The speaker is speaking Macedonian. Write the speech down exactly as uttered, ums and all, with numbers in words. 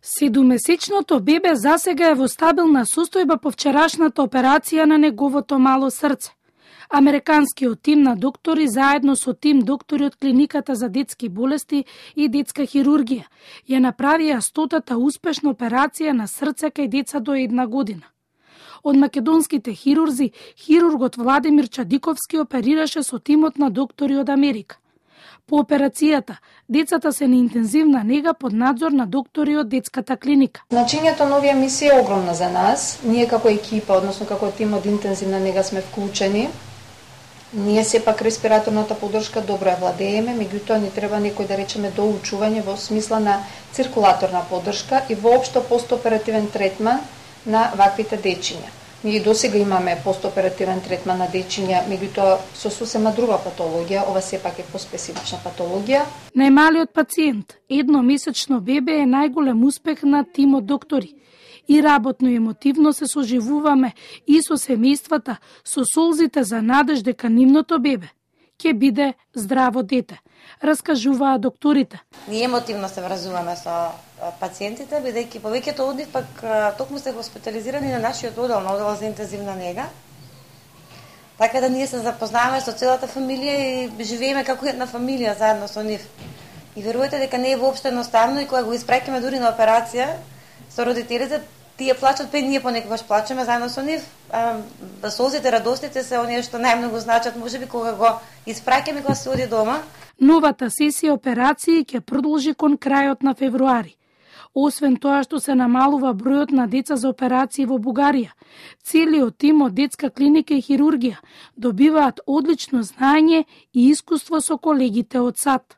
Седумесечното бебе засега е во стабилна состојба по вчерашната операција на неговото мало срце. Американскиот тим на доктори заедно со тим доктори од клиниката за детски болести и детска хирургија ја направија стотата успешна операција на срце кај деца до една година. Од македонските хирурзи, хирургот Владимир Чадиковски оперираше со тимот на доктори од Америка. По операцијата, децата се на интензивна нега под надзор на доктори од детската клиника. Значењето на овие мисија е огромно за нас. Ние како екипа, односно како тим од интензивна нега сме вклучени. Ние сепак респираторната поддршка добро ја владееме, меѓутоа ни треба некој да речеме доучување во смисла на циркулаторна поддршка и воопшто постоперативен третман на ваквите дечиња. Ние досега имаме постоперативен третман на дечиња, меѓутоа со сосема друга патологија, ова сепак е поспецифична патологија. Најмалиот пациент, едномесечно бебе, е најголем успех на тимот доктори. И работно и емотивно се соживуваме и со семејствата, со солзите за надеж дека нивното бебе ќе биде здраво дете, раскажуваа докторите. Ние емотивно се вразуваме со пациентите, бидејќи повеќето од нив пак токму се хоспитализирани на нашиот одел, на одел за интензивна нега. Така да ние се запознаваме со целата фамилија и живееме како една фамилија заедно со нив. И верувате дека не е воопшто едноставно и кога го испраќаме дури на операција со родителите, тие плачат, пе ние понекогаш плачеме заедно со нив. Да солзите, радостите се оние што најмногу значат, можеби кога го испраќаме кога се оди дома. Новата сесија операции ќе продолжи кон крајот на февруари. Освен тоа што се намалува бројот на деца за операции во Бугарија, целиот тим од детска клиника и хирургија добиваат одлично знаење и искуство со колегите од САД.